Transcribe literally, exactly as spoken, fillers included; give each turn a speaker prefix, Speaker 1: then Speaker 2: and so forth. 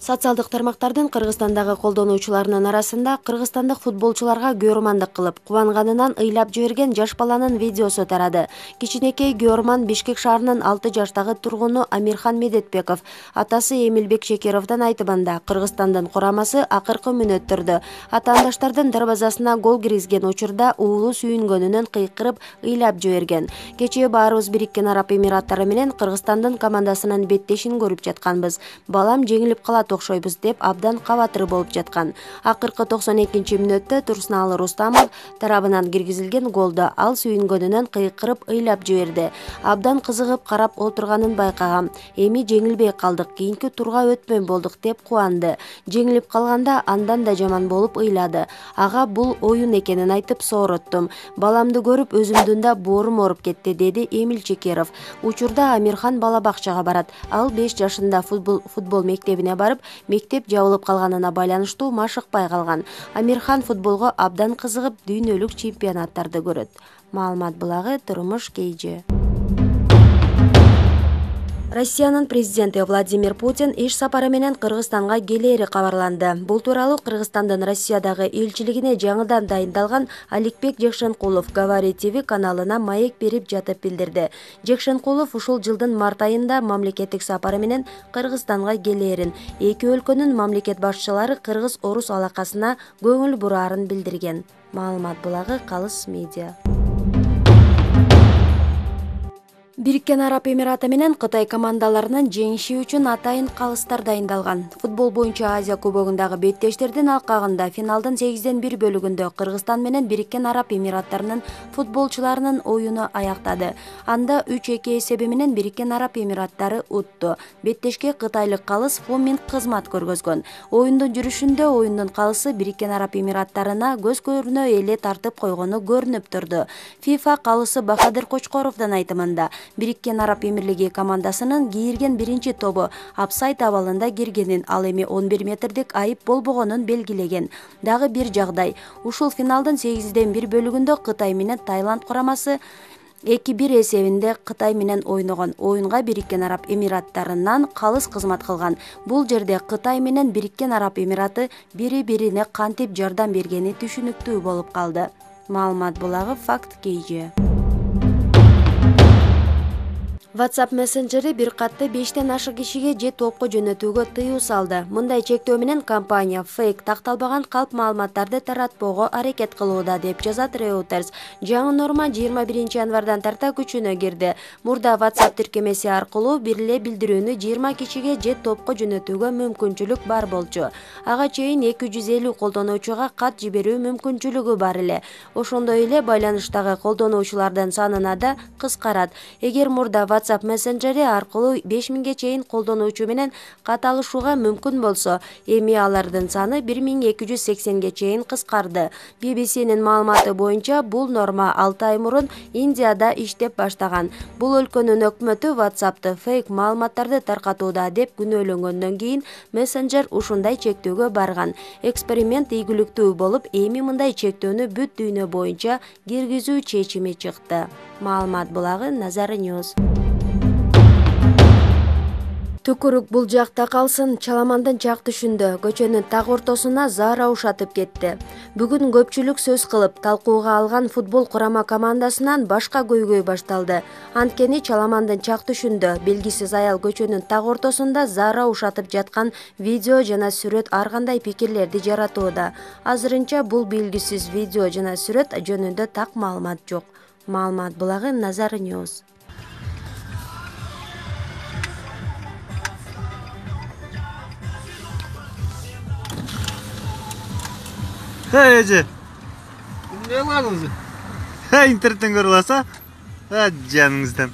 Speaker 1: Социалдык тармактардын Кыргызстандагы колдонуучуларынын арасында кыргызстандык футболчуларга көөрмандык кылып, кубанганынан ыйлап жиберген жаш баланын видеосу тарады. Кичинекей көөрман Бишкек шаарынын алты жаштагы тургуну Амирхан Медетбеков. Атасы Эмилбек Шекеровдун айтымында Кыргызстандын курамасы акыркы мүнөттөрдө атаандаштардын дарбазасына гол киргизген учурда уулу сүйүнгөнүнөн кыйкырып ыйлап жиберген. Кечээ баарыбыз Бириккен Араб Эмираттары менен Кыргызстандын командасынын беттешин көрүп жатканбыз. Балам жеңилип калат окшойбуз деп абдан кабатыр болуп жаткан. Акыркы токсон экинчи мүнөттө Турсуналы Рустамов тарабынан киргизилген голду ал сүйүнгөнүнөн кыйкырып ыйлап жиберди. Абдан кызыгып карап отурганын байкагам. Эми жеңилбей калдык, кийинки турга өтмөй болдук деп кубанды. Жеңилип калганда андан да жаман болуп ыйлады. Ага бул оюн экенин айтып соороттум. Баламды көрүп өзүмдүн да боорум ооруп кетти, деди Эмил Чекеров. Учурда Амирхан бала бакчага барат. Ал беш жашында футбол футбол мектебине барып, мектеп жабылып калганына байланыштуу машыкпай калган. Амирхан футболго абдан кызыгып, дүйнөлүк чемпионаттарды көрөт. Маалымат булагы Турмуш Кейжи. Россиянын президенти Владимир Путин иш сапары менен Кыргызстанга келери кабарланды. Бул тууралуу Кыргызстандын Россиядагы элчилигине жаңыдан дайындалган Аликбек Жекшенкулов Говори ТВ каналына маек берип жатып билдирди. Жекшенкулов ушул жылдын март айында мамлекеттик сапары менен Кыргызстанга келерин, эки өлкөнүн мамлекет башчылары кыргыз-орус алакасына көңүл бураарын билдирген. Маалымат булагы Калыс медиа. Бириккен Араб Эмираты менен Кытай командаларынын жеңиши үчүн атайын калыстар дайындалган. Футбол боюнча Азия кубогундагы беттештердин алкагында финалдын сегизден бир бөлүгүндө Кыргызстан менен Бириккен Араб Эмираттарынын футболчуларынын оюну аяктады. Анда үч эки эсеби менен Бириккен Араб Эмираттары утту. Беттешке кытайлык калыс Фумин кызмат көргөзгөн. Оюндун жүрүшүндө оюндун калысы Бириккен Араб Эмираттарына көз көрүнө эле тартып койгону көрүнүп турду. FIFA калысы Бахадыр Кочкоровдун айтымында Бириккен Араб Эмирлиги командасынын кийирген биринчи тобу апсайт абалында киргенин, ал эми он бир метрдик айып болбогонун белгилеген. Дагы бир жагдай, ушул финалдын сегизден бир бөлүгүндө Кытай менен Таиланд курамасы эки бир эсебинде Кытай менен ойногон. Оюнга Бириккен Араб Эмираттарынан калыс кызмат кылган. Бул жерде Кытай менен Бириккен Араб Эмираты бири-бирине кантип жардам бергени түшүнүктүү болуп калды. Маалымат булагы Факт Кейжи. WhatsApp мессенджери бир катты бештен ашык кишиге же топко жөнөтүүгө тыюу салды. Мындай чектөө менен компания фейк такталбаган калп маалыматтарды таратпоого аракет кылууда, деп жазат Reuters. Жаңы норма жыйырма биринчи январдан тарта күчүнө кирди. Мурда WhatsApp тиркемеси аркылуу бир эле билдирүүнү жыйырма кишиге же топко жөнөтүүгө мүмкүнчүлүк бар болчу. Ага чейин эки жүз элүү колдонуучуга кат жиберүү мүмкүнчүлүгү бар эле. Ошондой эле байланыштагы колдонуучулардын санына да кыскарат. Эгер мурда WhatsApp мессенджери аркылуу беш миңге чейин колдонуучу менен кат алышууга мүмкүн болсо, эми алардын саны бир миң эки жүз сексенге чейин кыскарды. би би синин маалыматы боюнча бул норма алты ай мурун Индияда иштеп баштаган. Бул өлкөнүн өкмөтү WhatsApp'ты фейк маалыматтарды таркатууда деп күнөөлөнгөндөн кийин мессенджер ушундай чектөөгө барган. Эксперимент ийгиликтүү болуп, эми мындай чектөөнү бүт дүйнө боюнча киргизүү чечими чыкты. Маалымат булагы Назар News. Түкүрүк бул жакта калсын, Чаламандын чак түшүндө көчөнүн так ортосуна Зара ушатып кетти. Бүгүн көпчүлүк сөз кылып, талкууга алган футбол курама командасынан башка көйгөй башталды. Анткени Чаламандын чак түшүндө белгисиз аял көчөнүн так ортосунда Зара ушатып жаткан видео жана сүрөт ар кандай пикирлерди жаратууда. Азырынча бул белгисиз видео жана сүрөт жөнүндө так маалымат жок. Маалымат булагы Назар News.
Speaker 2: Hey Ece. Ne var mı? Hey internetten görüyorsa. Ha canınızdan.